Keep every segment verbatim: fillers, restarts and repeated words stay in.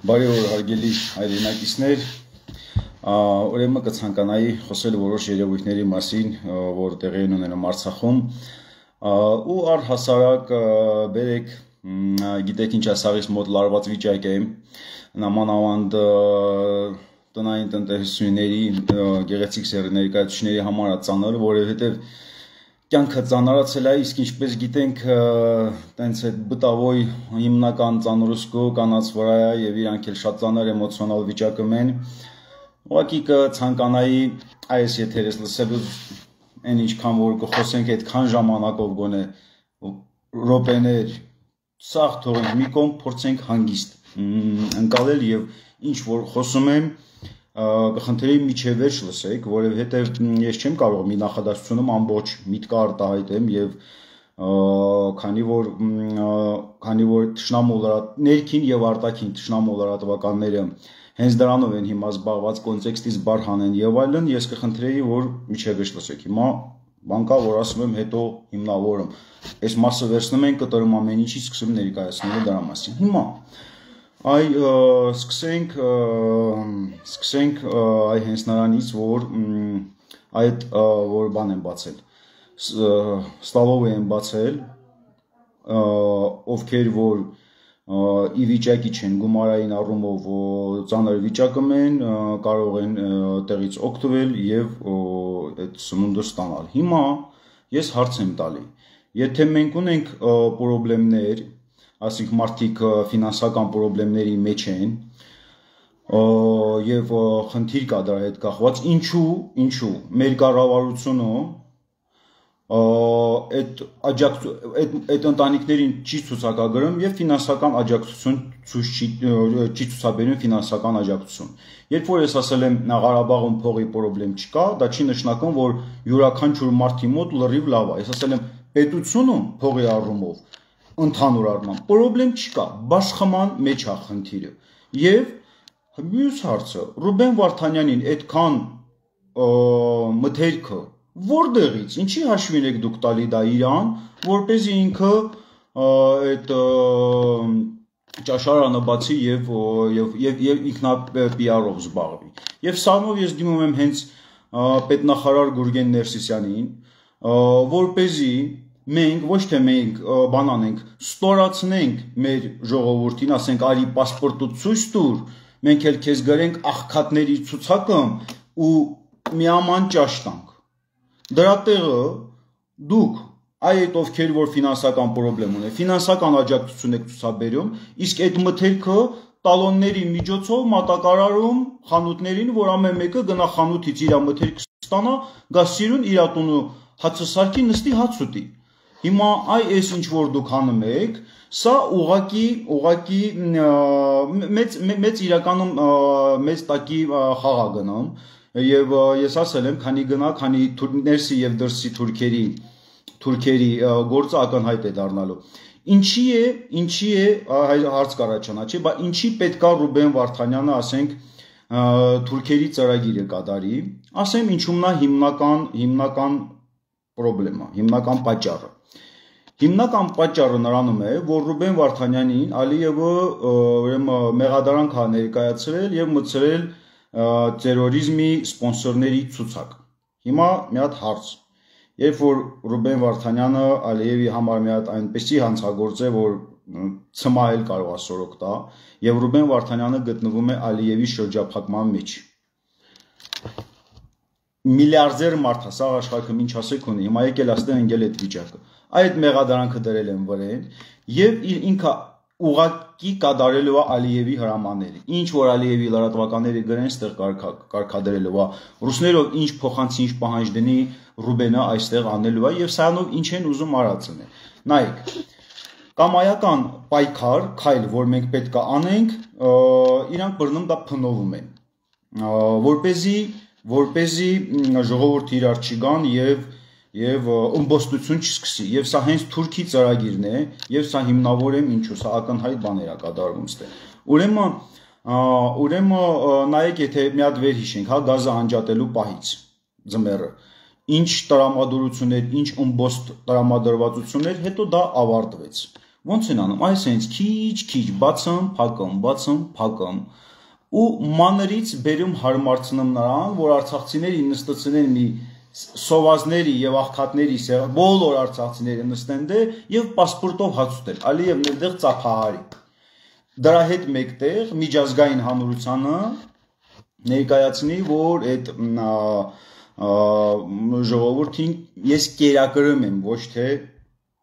Բարի օր հարգելի հայրենակիցներ, ուրեմն կցանկանայի խոսել որոշ երևույթների մասին, որ տեղի են ունենում Արցախում, ու առհասարակ բերեք գիտեք ինչ ասաղից մոտ լարված վիճակ է, նամանավանդ տնային տնտեսությունների գեղեցիկ սեռի ներկայացուցիչների համար ծանր, որովհետև կյանքը ծանրացել է, իսկ ինչպես գիտենք, տենց այդ բտավոյ հիմնական ծանրուսկու կանաց վրա է եւ իրանք էլ շատ ծանր էմոցիոնալ վիճակում են։ Ուղղակի կցանկանայի այս եթերից լսելու այն ինչքան որ կխոսենք այդքան ժամանակով գոնե րոպեներ սաղ թողենք մի կողմ փորձենք հանգիստ ընկալել եւ ինչ որ խոսում եմ կխնդրեի միջև վերջ լսեք, որովհետև ես չեմ կարող մի նախադասությունում ամբողջ միտքը արտահայտեմ եւ քանի որ քանի որ թշնամու ներքին եւ արտաքին թշնամու լրատվականները հենց դրանով են հիմա զբաղված կոնտեքստից բար հանեն եւ այլն, ես կխնդրեի որ միջև վերջ լսեք։ Հիմա բան կա որ ասում եմ հետո հիմնավորում։ Այս մասը վերցնում ենք կտրում ամեն ինչի սկսում ներկայացնելու դրա մասին։ Հիմա Այ սկսենք սկսենք այ հենց նրանից որ այդ որ բան են բացել ստալով են բացել ովքեր որ ի վիճակի չեն գումարային առումով ծանր վիճակում են կարող են տեղից օգտվել եւ այդ սնունդը ստանալ։ Հիմա ես հարց եմ տալի, եթե մենք ունենք խնդիրներ Ասենք մարդիկ ֆինանսական խնդիրների մեջ են եւ խնդիր կա դրա հետ կախված ինչու ինչու մեր կառավարությունը այդ այդ այդ ընտանիքներին չի ցուցակագրում եւ ֆինանսական աջակցություն ցույց չի չի ցուցաբերում ֆինանսական աջակցություն։ Երբ որ ես ասել եմ Ղարաբաղում փողի խնդրեմ չկա, դա չի նշանակում որ յուրաքանչյուր մարդի մոտ լրիվ լավ է։ Ես ասել եմ պետությունում փողի առումով ընդհանուր առմամբ խնդրեմ չկա, բաշխման մեջ է խնդիրը։ Եվ մյուս հարցը Ռուբեն Վարդանյանին այդքան մթերքը որտեղից, ինչի հաշվին եք դուք տալի դա իրան, որպեսզի ինքը այդ ճաշարանը բացի եւ եւ եւ ինքնա պի արով զբաղվի։ Եվ սրանով ես դիմում եմ հենց պետնախարար Գուրգեն Ներսիսյանին, որպեսզի մենք ոչ թե մենք բան անենք, ստորացնենք մեր ժողովրդին, ասենք արի պասպորտը ցույց տուր, մենք էլ քեզ գրենք աղքատների ցուցակում ու միաման ճաշ տանք։ Դրա տեղը դուք այդ ովքեր որ ֆինանսական խնդրեմ ունեն, ֆինանսական աջակցություն եք ցուցաբերում, իսկ այդ մթերքը տալոնների միջոցով մատակարարում խանութներին, որ ամեն մեկը գնա խանութից իր մթերքը ստանա, գա սիրուն իր տունը հացը սարքի նստի հաց ուտի։ Հիմա այ այս ինչ որ դուք անում եք, սա ուղակի ուղակի մեծ մեծ իրականում մեծ տակի խաղ է գնում եւ ես ասել եմ, քանի գնա, քանի ներսի եւ դրսի թուրքերի թուրքերի գործը ակնհայտ է դառնալու։ Ինչի է, ինչի է հարց կառաջանա, չէ՞, բա ինչի պետքա Ռուբեն Վարդանյանը, ասենք, թուրքերի ծրագիրը կատարի, ասեմ ինչումն է հիմնական հիմնական խնդրեմը, հիմնական պատճառը։ Հիմնական պատճառը նրանում է, որ Ռուբեն Վարդանյանին Ալիևը ուրեմն մեղադրանք է ներկայացրել եւ մտցրել տերորիզմի սպոնսորների ցուցակ։ Հիմա մի հատ հարց։ Երբ որ Ռուբեն Վարդանյանը Ալիևի համար մի հատ այնպեսի հանցագործ է, որ ցմահել կարող է սորոք տա, եւ Ռուբեն Վարդանյանը գտնվում է Ալիևի շրջափակման մեջ։ Միլիարդեր մարդ է, սաղ աշխարհում ինչ ասեք ունի, հիմա եկել աստեն ընկել այդ վիճակը։ Այդ մեղադրանքը դրել են վրեն եւ իր ինքը ուղակի կատարելու է Ալիևի հրամանները։ Ինչ որ Ալիևի լրատվականները գրեն, ստեղ կարգադրելու է։ Ռուսներով ինչ փոխանցի, ինչ պահանջ դնի Ռուբենը այստեղ անելու է եւ սրանով ինչ են ուզում արածն է։ Նայեք, կամայական պայքար, քայլ, որ մենք պետք է անենք, իրանք բռնում դա փնովում են։ Որպեսզի որպեսզի ժողովուրդը իրար չգան եւ եւ ըմբոստություն չսկսի եւ սա հենց Թուրքի ծրագիրն է եւ սա հիմնավոր է ինչու սա ակնհայտ բաներ է կատարվում ստե ուրեմն ուրեմն նայեք եթե մի հատ վեր հիշենք հա գազը անջատելու պահից ձմեռը ինչ տրամադրություններ ինչ ըմբոստ տրամադրվածություններ հետո դա ավարտվեց ոնց են անում, այս հենց քիչ-քիչ բացում, փակում, բացում, փակում ու մանրից բերում հարմարցնում նրան, որ արցախցիների նստեցնեն մի սովազների եւ աղքատների սեղ, բոլոր արցախցիները նստեն դե եւ պասպորտով հաց ուտել, Ալիևն այդտեղ ծափահարի։ Դրա հետ մեկտեղ միջազգային հանրությանը ներկայացնի, որ այդ ժողովրդին ես կերակրում եմ, ոչ թե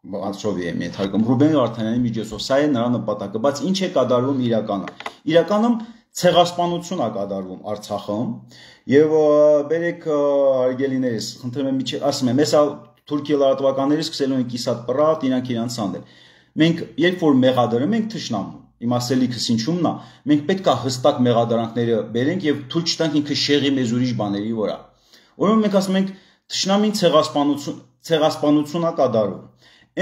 Անցովի եմ ենթարկում Ռուբեն Վարդանյանի միջոցով, սա է նրա նպատակը, բայց ինչ է կատարվում իրականում։ Իրականում ցեղասպանություն է կատարվում Արցախում եւ բերեք արգելիներս, խնդրում եմ միջի ասում եմ, հեսա Թուրքիա լրատվականները սկսելու են կիսատ պրատ, իրանք իրանց անդել։ Մենք երբ որ մեղադրում ենք թշնամուն, իմ ասելիքս ինչումն է, մենք պետք է հստակ մեղադրանքները բերենք եւ թույլ չտանք ինքը շեղի մեզ ուրիշ բաների վրա։ Ուրեմն մենք ասում ենք թշնամին ցեղասպանություն, ցեղասպանություն է կատարում։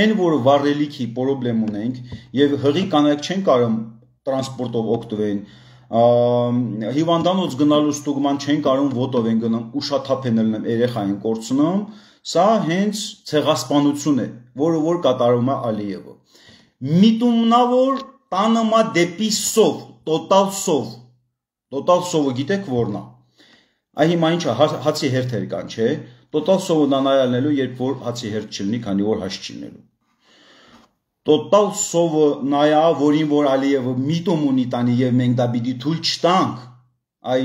Այն որ վառելիքի խնդրեմ ունենք եւ հղի կանայք չեն կարող տրանսպորտով օգտվեն, հիվանդանոց գնալու ստուգման չեն կարող ոտով են գնում, ուշաթափ են լնում, երեխային կորցնում, սա հենց ցեղասպանություն է, որը որ կատարում է Ալիևը։ Միտումնավոր տանումա դեպի սով, տոտալ սով, տոտալ սովը գիտեք որն է։ Այ հիմա ինչա հացի հերթեր կան, չէ՞։ Տոտալ սովը նայալնելու, երբ որ հացի հերթ չլինի, քանի որ հաց չլինելու։ Տոտալ սովը նայա, որին որ Ալիևը միտում ունի տանի եւ մենք դա պիտի թույլ չտանք, այ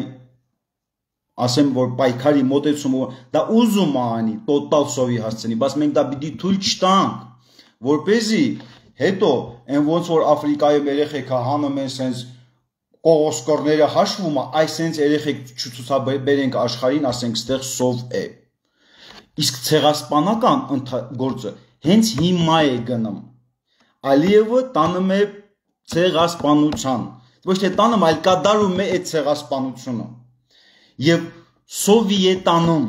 ասեմ որ պայքարի մոտեցումը դա ուզում է անի տոտալ սովի հասցնի, բայց մենք դա պիտի թույլ չտանք, որպեսզի հետո այն ոնց որ Աֆրիկայում երեխեքը հանում են սենց կողոսկորները հաշվում է, այս սենց երեխեք չցուցաբերենք աշխարհին, ասենք ստեղ սով է։ Իսկ ցեղասպանական գործը հենց հիմա է գնում։ Ալիևը տանում է ցեղասպանության, ոչ թե տանում, այլ կատարում է այդ ցեղասպանությունը։ Եվ սովի է տանում։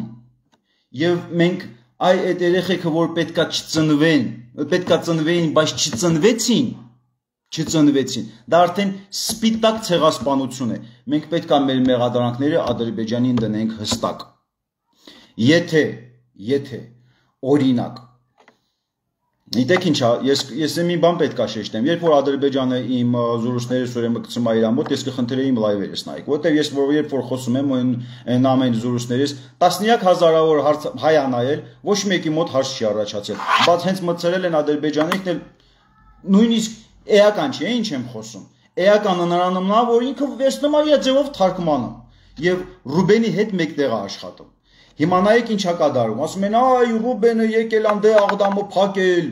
Եվ մենք այ այդ երեխեքը որ պետքա չծնվեն, պետքա ծնվեին, բայց չծնվեցին, չծնվեցին։ Դա արդեն սպիտակ ցեղասպանություն է։ Մենք պետքա մեր մեղադրանքները Ադրբեջանին դնենք հստակ։ Եթե Եթե օրինակ Գիտեք ինչա, ես ես մի բան պետք է շեշտեմ, երբ որ Ադրբեջանը իմ զորուսները ուրեմն գցում է իր մոտ, ես կխնդրեի իմ լայվերս նայեք, որտեղ ես որ երբ որ խոսում եմ այն ամեն զորուսներից տասնյակ հազարավոր հայ անայել, ոչ մեկի մոտ հարց չի առաջացել, բայց հենց մտցրել են Ադրբեջանին, նույնիսկ էական չի, ինչ եմ խոսում։ Էականը նրանում նա, որ ինքը վերցնում է իր ձևով թարգմանում եւ Ռուբենի հետ մեկտեղ է աշխատում։ Հիմա նայեք ինչա կատարում, ասում են այ Ռուբենը եկել անդե աղդամը փակել։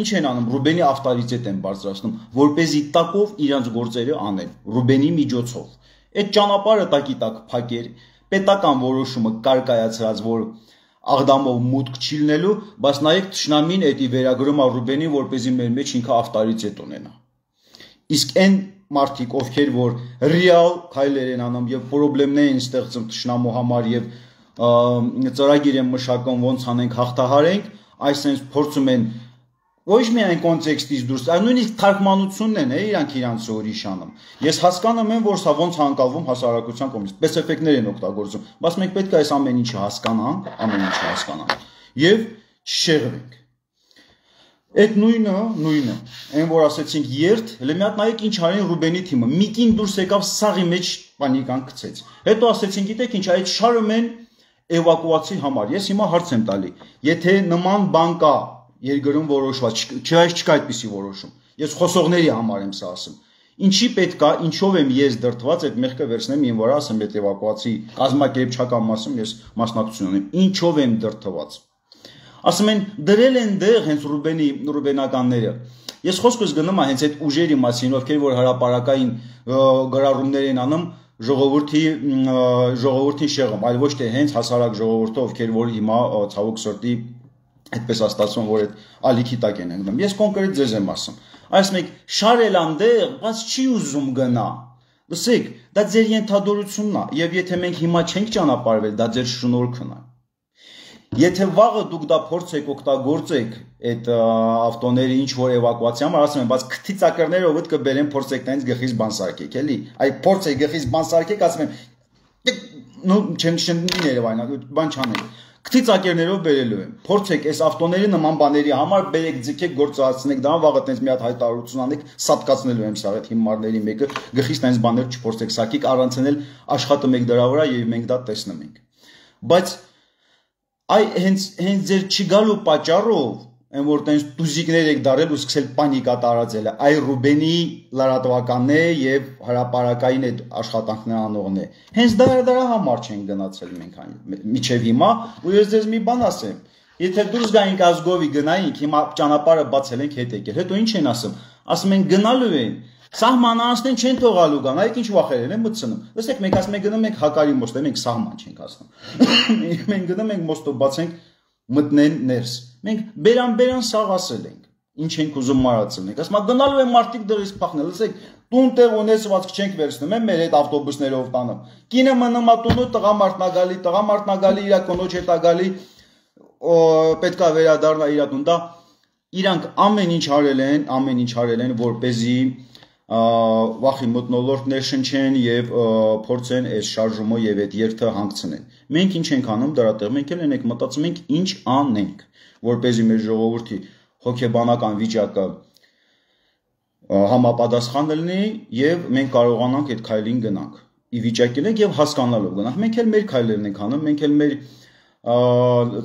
Ինչ են անում, Ռուբենի ավտորիտետ են բարձրացնում, որպեսզի տակով իրանց գործերը անեն, Ռուբենի միջոցով։ Այդ ճանապարհը տակի տակ փակեր, պետական որոշումը կարկայացրած, որ աղդամով մուտք չի լինելու, բայց նայեք թշնամին էդի վերագրում է Ռուբենին, որպեսզի մեր մեջ ինքը ավտորիտետ ունենա։ Իսկ այն մարդիկ, ովքեր որ ռեալ քայլեր են անում եւ խնդիրներ են ստեղծում թշնամու համար եւ ծրագիր են մշակում ոնց անենք հաղթահարենք, այսինքն փորձում են ոչ միայն կոնտեքստից դուրս, այլ նույնիսկ թարգմանությունն են, իրանք իրանց ուրիշ անում։ Ես հասկանում եմ, որ սա ոնց հանկալվում հասարակության կողմից, սպեսիֆիկներ են օգտագործում, բայց մենք պետք է այս ամեն ինչը հասկանանք, ամեն ինչը հասկանանք եւ չշեղվենք։ Այդ նույնը, նույնը, այն որ ասեցինք երթ, հələ մի հատ նայեք ինչ արին Ռուբենի թիմը, միկին դուրս եկավ սաղի մեջ պանիկան գցեց։ Հետո ասեցին, գիտեք ինչ, այդ շարում են էվակուացի համար, ես հիմա հարց եմ տալի, եթե նման բան կա երկրում որոշված, չայց չկա այդպիսի որոշում, ես խոսողների համար եմ սա ասում, ինչի պետք է, ինչով եմ ես դրդված այդ մեղքը վերցնեմ իմ վրա, ասեմ այդ էվակուացի կազմակերպչական մասում ես մասնակցություն ունեմ, ինչով եմ դրդված, ասում են դրել են դեղ հենց Ռուբենի ռուբենականները, ես խոսքս գնում եմ հենց այդ ուժերի մասին, ովքեր որ հրապարակային գրառումներ են անում, ժողովրդի ժողովրդին շեղում, այլ ոչ թե հենց հասարակ ժողովուրդը, ովքեր որ հիմա ցավոք սրտի այդպես աստացվում, որ այդ ալիքի տակ են ընկնում։ Ես կոնկրետ ձեզ եմ ասում։ Այս մեկ շարել անդեղ, բայց չի ուզում գնա։ Լսեք, դա ձեր ենթադրությունն է, եւ եթե մենք հիմա չենք ճանապարհվել, դա ձեր շնորհքն է։ Եթե վաղը դուք դա փորձեք օգտագործեք այդ ավտոների ինչ որ էվակուացիա համար, ասում են, բայց քթի ծակերները ովդ կբերեն փորձեք տենց գլխից բան սարքեք, էլի։ Այ փորձեք գլխից բան սարքեք, ասում եմ, նո չեմ չնի Երևանա, բան չանեք։ Քթիծակերներով բերելու եմ։ Փորձեք այս ավտոների նման բաների համար բերեք, ձգեք, գործածնեք դա, վաղը տենց մի հատ հայտարարություն անեք, սատկացնելու եմ սա այդ հիմարների մեկը, գլխից տենց բաներ չփորձեք սակիկ, առանցնել աշխատում եք դրա վրա եւ մենք դա տեսնում ենք։ Բայց այ հենց հենց ձեր չգալու պատճառով այն որ տենց դուզիկներ եք դարել ու սկսել պանիկա տարածել, այ Ռուբենի լրատվականն է եւ հրապարակային այդ աշխատանքներ անողն է։ Հենց դրա դրա համար չեն գնացել մենք միջև հիմա, ու ես ձեզ մի բան ասեմ, եթե դուրս գայինք ազգովի գնայինք, հիմա ճանապարհը բացել ենք հետ եկել, հետո ինչ են ասում, ասում են գնալու են, սահմանանացնեն չեն թողալու գան, այ ինչ վախերեն են մտցնում։ Լսեք, մենք ասում ենք գնում ենք Հակարի մոստը, մենք սահման չենք ասում։ Մենք գնում ենք մոստով բացենք մտնեն ներս։ Մենք բերան-բերան սաղ ասել ենք, ինչ ենք ուզում մարացնենք, ասում գնալու են մարդիկ դրից փախնել, լսեք, տուն տեղ ունեցվածք չենք վերցնում, են մեր այդ ավտոբուսներով տանում։ Կինը մնում է տունու, տղամարդն է գալի, տղամարդն է գալի, իր կնոջ հետ է գալի, պետք է վերադառնա իր տուն, դա իրանք ամեն ինչ արել են, ամեն ինչ արել են, որպեսզի վախի մթնոլորտներ շնչեն եւ փորձեն այս շարժումը եւ այդ երթը հանգցնեն։ Մենք ինչ ենք անում դրա տեղ, մենք էլ ենք մտածում ենք ինչ անենք, որպեսզի մեր ժողովրդի հոգեբանական վիճակը համապատասխան լինի եւ մենք կարողանանք այդ քայլին գնանք։ Ի վիճակի ենք եւ հասկանալով գնանք։ Մենք էլ մեր քայլերն ենք անում, մենք էլ մեր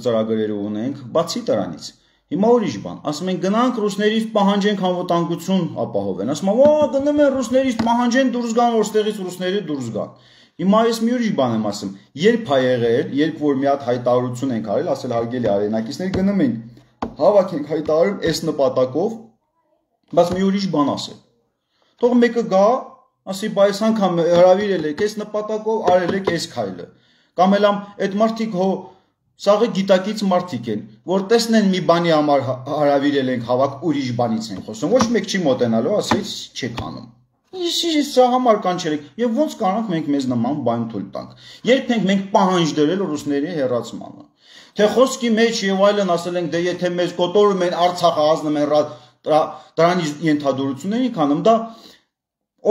ծրագրերը ունենք, բացի դրանից։ Հիմա ուրիշ բան, ասում են գնանք ռուսներից պահանջենք անվտանգություն ապահովեն, ասում են, «Ո, գնում են ռուսներից պահանջեն դուրս գան, որ ստեղից ռուսները դուրս գան»։ Հիմա ես մի ուրիշ բան եմ ասում, երբ ա եղել, երբ որ մի հատ հայտարարություն ենք արել, ասել հարգելի արենակիցներ, գնում ենք, հավաքենք հայտարարում այս նպատակով, բայց մի ուրիշ բան ասել։ Թող մեկը գա, ասի, «Բայ այս անգամ հրավիրել եք այս նպատակով, արել եք այս քայլը»։ Կամ էլ այդ մարդիկ հո Սաղը գիտակից մարդիկ են, որ տեսնեն մի բանի համար հարավիրել ենք հավաք, ուրիշ բանից են խոսում, ոչ մեկ չի մոտենալու, ասես չեք անում։ Իսկ սա համար կանչել եք, եւ ոնց կարանք մենք մեզ նման բան թույլ տանք։ Երբ ենք մենք պահանջ դրել ռուսների հերացմանը։ Թե խոսքի մեջ եւ այլն ասել ենք, դե եթե մեզ կոտորում են Արցախը ազնում են դրանից ենթադրություններ ենք անում, դա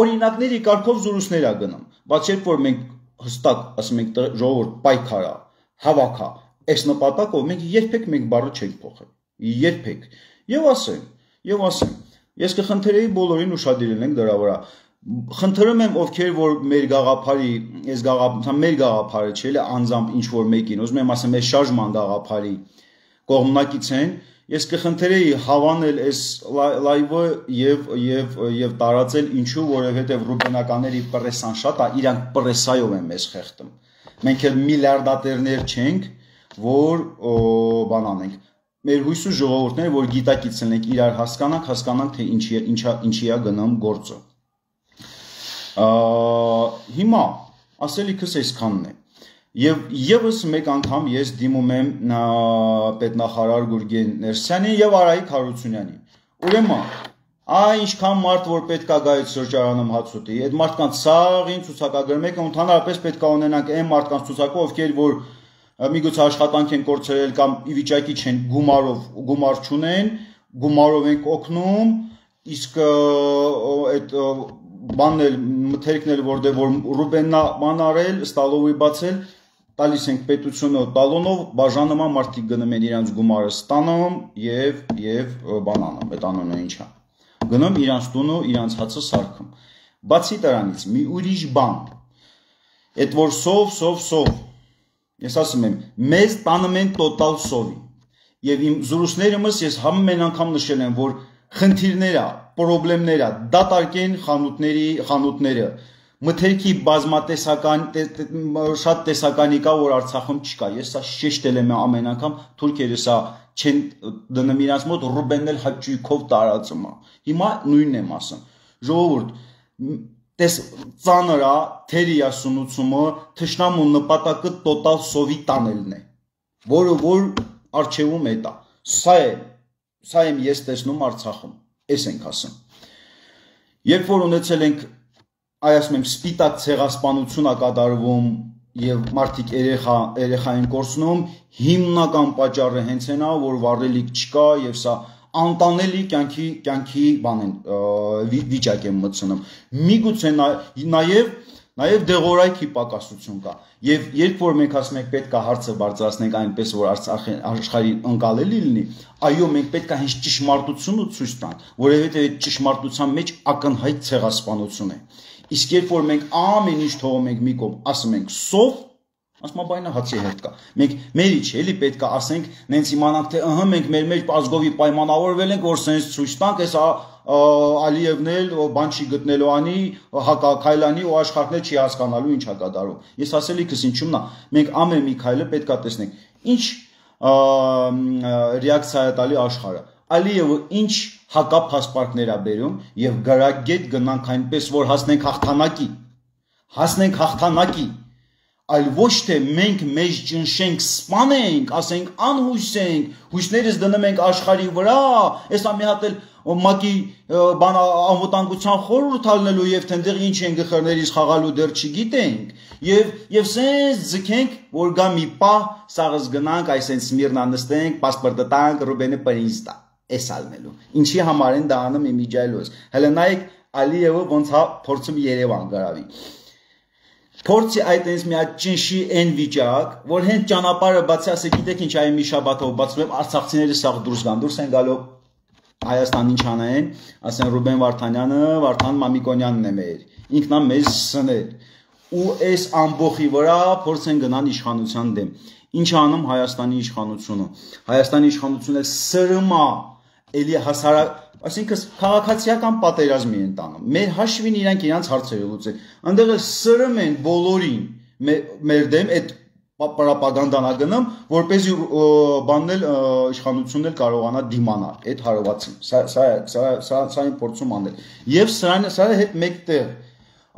օրինակների կարգով զրույցներ է գնում։ Բայց երբ որ մենք հստակ ասում ենք ժողովուրդ պայքարա, հավաքա Այս նպատակով մենք երբեք մենք բառը չենք փոխել, երբեք, եւ ասեմ, եւ ասեմ, ես կխնդրեի բոլորին ուշադիր ենք դրա վրա, խնդրում եմ ովքեր որ մեր գաղափարի, այս գաղափարը, մեր գաղափարը չէ, էլի անձամբ ինչ որ մեկին, ուզում եմ ասեմ, այս շարժման գաղափարի կողմնակից են, ես կխնդրեի հավանել այս լայվը եւ եւ եւ տարածել ինչու, որովհետեւ ռուբենականների պրեսան շատ է, իրանք պրեսայով են մեզ խեղդում։ Մենք էլ միլիարդատերներ չենք որ բան անենք մեր հույսու ժողովուրդները որ գիտակից ենք իրար հասկանանք հասկանանք թե ինչի ինչա ինչի է գնում գործը հիմա ասելիքս այսքանն է եւ եւս մեկ անգամ ես դիմում եմ պետնախարար Գուրգեն Ներսյանին եւ Արայիկ Հարությունյանին ուրեմն այ ինչքան մարդ որ պետքա գա այդ շրջանում հաց ուտի այդ մարդկանց սաղին ցուցակագրում եք ընդհանրապես պետքա ունենանք այն մարդկանց ցուցակը ովքեր որ Միգուցե աշխատանք են կորցրել կամ ի վիճակի չեն գումարով գումար չունեն, գումարով են օգնում, իսկ այդ բանն էլ մթերքն էլ որտեղ որ Ռուբեննա բան արել, ստալովի բացել, տալիս ենք պետությունը տալոնով, բաժանման մարդիկ գնում են իրանց գումարը ստանում եւ եւ բան անում, այդ անունը ինչա։ Գնում իրանց տունը, իրանց հացը սարքում։ Բացի դրանից մի ուրիշ բան։ Այդ որ սով, սով, սով Ես ասում եմ, մեզ տանում են տոտալ սովի եւ իմ զրույցներումս ես ամեն անգամ նշել եմ, որ խնդիրները, խնդիրները դատարկեն խանութների խանութները մթերքի բազմատեսական շատ տեսականի կա, որ Արցախում չկա։ Ես սա շեշտել եմ ամեն անգամ, թուրքերը սա չեն դնում իրանց մոտ ռուբեննել հաճույքով տարածում է։ Հիմա նույնն եմ ասում։ Ժողովուրդ Տես ծանր է թերիա սնուցումը թշնամու նպատակը տոտալ սովի տանելն է, որը որ արչևում է դա։ Սա է, սա եմ ես տեսնում Արցախում, այս ենք ասում։ Երբ որ ունեցել ենք, այ ասում եմ, սպիտակ ցեղասպանություն է կատարվում եւ մարդիկ երեխա երեխա են կորցնում, հիմնական պատճառը հենց այն է, որ վառելիք չկա եւ սա անտանելի կյանքի կյանքի բան են վիճակ են մտցնում։ Միգուցե նաև Նաև դեղորայքի պակասություն կա։ Եվ երբ որ մենք ասում ենք պետք է հարցը բարձրացնենք այնպես, որ աշխարհին ընկալելի լինի, այո, մենք պետք է հենց ճշմարտությունը ցույց տանք, որովհետև այդ ճշմարտության մեջ ակնհայտ ցեղասպանություն է։ Իսկ երբ որ մենք ամեն ինչ թողում ենք մի կողմ, ասում ենք սով, ասում բայնա հացի հետ կա։ Մենք մերի չէ, էլի պետք է ասենք, նենց իմանանք, թե ըհը մենք մեր մեջ ազգովի պայմանավորվել ենք, որ սենց ցույց տանք, այս Ալիևն էլ բան չի գտնելու անի, հակաքայլանի ու աշխարհն չի հասկանալու ինչ է կատարում։ Ես ասելիքս ինչումն է, մենք ամեն մի քայլը պետք է տեսնենք։ Ինչ ռեակցիա է տալի աշխարհը։ Ալիևը ինչ հակափասպարտներ է բերում եւ գրագետ գնանք այնպես, որ հասնենք հաղթանակի։ Հասնենք հաղթանակի։ Այլ ոչ թե մենք մեզ ճնշենք, սպանենք, ասենք անհույսենք, հույսներս դնում ենք աշխարհի վրա, այսա մի հատ էլ մակի բան անվտանգության խորհուրդ ալնելու եւ թենդեղ ինչ են գխերներից խաղալու դեռ չգիտենք եւ եւ սենց ձգենք, որ գա մի պահ սաղս գնանք, այսենց Սմիրնա նստենք, պասպորտը տանք, Ռուբենը պրինստա, էս ալնելու։ Ինչի համար են դա անում իմիջայլոս։ Հələ նայեք Ալիևը ոնց հա փորձում Երևան գրավի։ Փորձի այդ այնց մի հատ ճնշի այն վիճակ, որ հենց ճանապարհը բացի, ասեք, գիտեք ինչ այ մի շաբաթով բացվում, արցախցիները սաղ դուրս գան, դուրս են գալու Հայաստան ինչ անեն, ասեն Ռուբեն Վարդանյանը, Վարդան Մամիկոնյանն է մեր, ինքնա մեզ սնել, ու այս ամբողի վրա փորձ են գնան իշխանության դեմ։ Ինչ անում Հայաստանի իշխանությունը։ Հայաստանի իշխանությունը սրմա, էլի հասարակ, այսինքն քաղաքացիական պատերազմի են տանում։ Մեր հաշվին իրանք իրանց հարցերը լուծեն։ Այնտեղ էլ սրում են բոլորին մեր դեմ այդ պրոպագանդան ագնում, որպեսզի բաննել իշխանությունն էլ կարողանա դիմանալ այդ հարվածին։ Սա սա սա սա այն փորձում անել։ Եվ սրան սա հետ մեկտեղ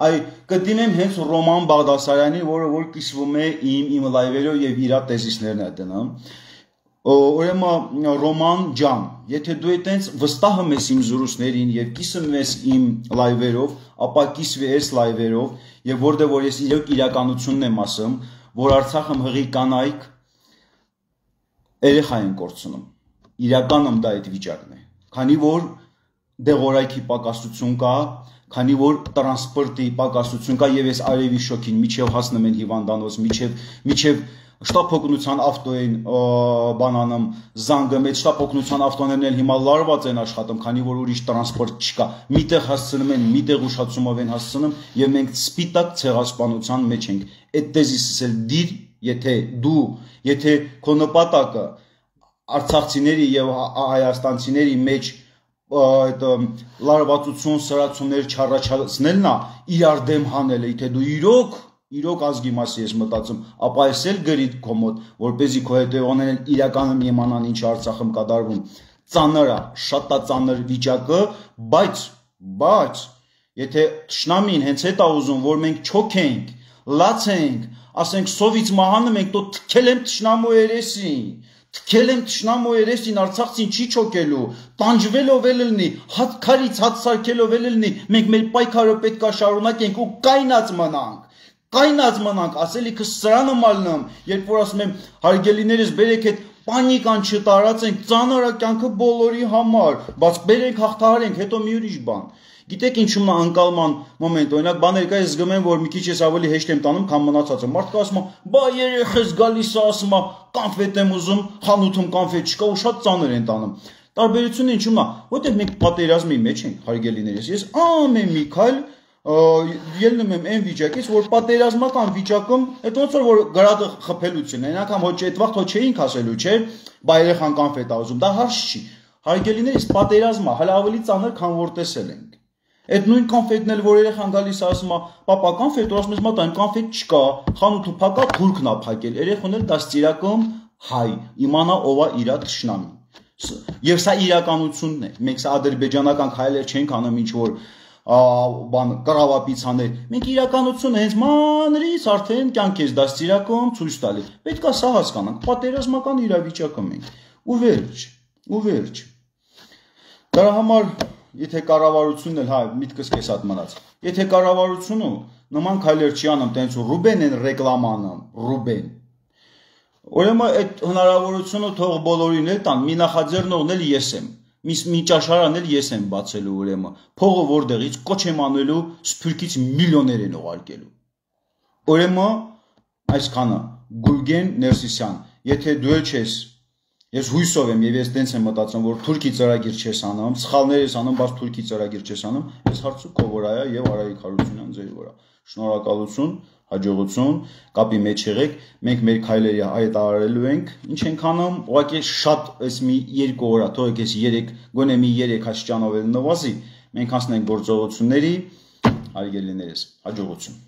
այ կդիմեմ հենց Ռոման Բաղդասարյանի, որը որ կիսվում է իմ իմ լայվերով եւ իր տեզիսներն է դնում։ Ուրեմն Ռոման ջան, եթե դու այտենց վստահում ես իմ զրույցներին եւ կիսում ես իմ լայվերով, ապա կիսվի այս լայվերով եւ որտեղ որ ես իրոք իրականությունն եմ ասում, որ Արցախում հղի կանայք երեխա են կորցնում։ Իրականում դա այդ վիճակն է։ Քանի որ դեղորայքի պակասություն կա, քանի որ տրանսպորտի պակասություն կա եւ այս արևի շոքին միջև հասնում են հիվանդանոց, միջև միջև շտապօգնության ավտոին բանանում զանգը մեջ շտապօգնության ավտոներն էլ հիմա լարված են աշխատում, քանի որ ուրիշ տրանսպորտ չկա։ Միտեղ հասցնում են, միտեղ ուշացումով են հասցնում եւ մենք սպիտակ ցեղասպանության մեջ ենք։ Այդ տեզիսս էլ դիր, եթե դու, եթե քո նպատակը արցախցիների եւ հայաստանցիների մեջ այդ լարվածություն, սրացումներ չառաջացնելն է, իրար դեմ հանելը, եթե դու իրոք իրոք ազգի մասի ես մտածում, ապա ես էլ գրի քո մոտ, որպեսզի քո հետևողներն իրականում իմանան ինչ Արցախում կատարվում։ Ծանր է, շատ է ծանր վիճակը, բայց բայց եթե թշնամին հենց այդ է ուզում, որ մենք չոքենք, լացենք, ասենք սովից մահանում ենք, તો թքել եմ թշնամու երեսին, թքել եմ թշնամու երեսին, Արցախցին չի չոքելու, տանջվելով էլ լինի, հատ քարից հատ սարքելով էլ լինի, մենք մեր պայքարը պետք է շարունակենք ու կայնած մնանք։ Կայնած մնանք, ասելիքս սրանը մալնում, երբ որ ասում եմ հարգելիներս բերեք այդ պանիկան չտարածենք, ծանր է կյանքը բոլորի համար, բայց բերենք հաղթահարենք, հետո մի ուրիշ բան։ Գիտեք ինչումն է անկալման մոմենտ, օրինակ բաներ կա, ես զգում եմ, որ մի քիչ ես ավելի հեշտ եմ տանում, քան մնացածը։ Մարդը ասում է, բա երեխես գալիս է, ասում է, կոնֆետ եմ ուզում, խանութում կոնֆետ չկա ու շատ ծանր են տանում։ Տարբերությունը ինչումն է, որտեղ մենք պատերազմի մեջ ենք, հարգելիներս, ես ամեն մի քայլ ելնում եմ այն վիճակից, որ պատերազմական վիճակում, այդ ոնց որ գրադը խփելություն է, այն անգամ հոչ այդ վաղտ հոչ չէինք ասելու, չէ, բա երեխան կոնֆետ է ուզում, դա հարց չի։ Հարգելիներս պատերազմը հələ ավելի ծանր, քան որ տեսել ենք։ Այդ նույն կոնֆետն էլ որ երեխան գալիս է ասում է, պապա կոնֆետ, ու ասում ես մատա, այն կոնֆետ չկա, խանութը փակա, թուրքն է փակել, երեխան էլ դաստիարակում հայ, իմանա ով է իր թշնամին։ Եվ սա իրականությունն է։ Մենք սա ադրբեջանական քայլեր չենք անում ինչ որ բան կռավապիցաներ, մենք իրականությունը հենց մանրից արդեն կյանք ես դաստիարակում ցույց տալի։ Պետք է սա հասկանանք, պատերազմական իրավիճակում ենք։ Ու վերջ, ու վերջ։ Դրա համար, եթե կառավարությունն էլ, հա, միտքս կես հատ մնաց։ Եթե կառավարությունը նման քայլեր չի անում, տենց ու Ռուբեն են ռեկլամ անում, Ռուբեն։ Ուրեմն այդ հնարավորությունը թող բոլորին էլ տան, մի նախաձեռնողն էլ ես եմ։ Մի ճաշարան էլ ես եմ բացելու ուրեմն, փողը որտեղից կոչ եմ անելու Սփյուռքից միլիոներ են ուղարկելու, Ուրեմն այսքանը Գուրգեն Ներսիսյան, եթե դու ես ես հույսով եմ եւ ես տենց եմ մտածում, որ թուրքի ծրագիր չես անում, սխալներ ես անում, բայց թուրքի ծրագիր չես անում, այս հարցը քո վրա է եւ Արայիկ Հարությունյան ձեր վրա։ Շնորհակալություն, հաջողություն, կապի մեջ եղեք, մենք մեր քայլերի հայտարարելու ենք, ինչ ենք անում, ուղղակի շատ այս մի երկու օր, թողեք ես երեք, գոնե մի երեք աստիճանով էլ նվազի, մենք անցնենք գործողությունների, հարգելիներս, հաջողություն։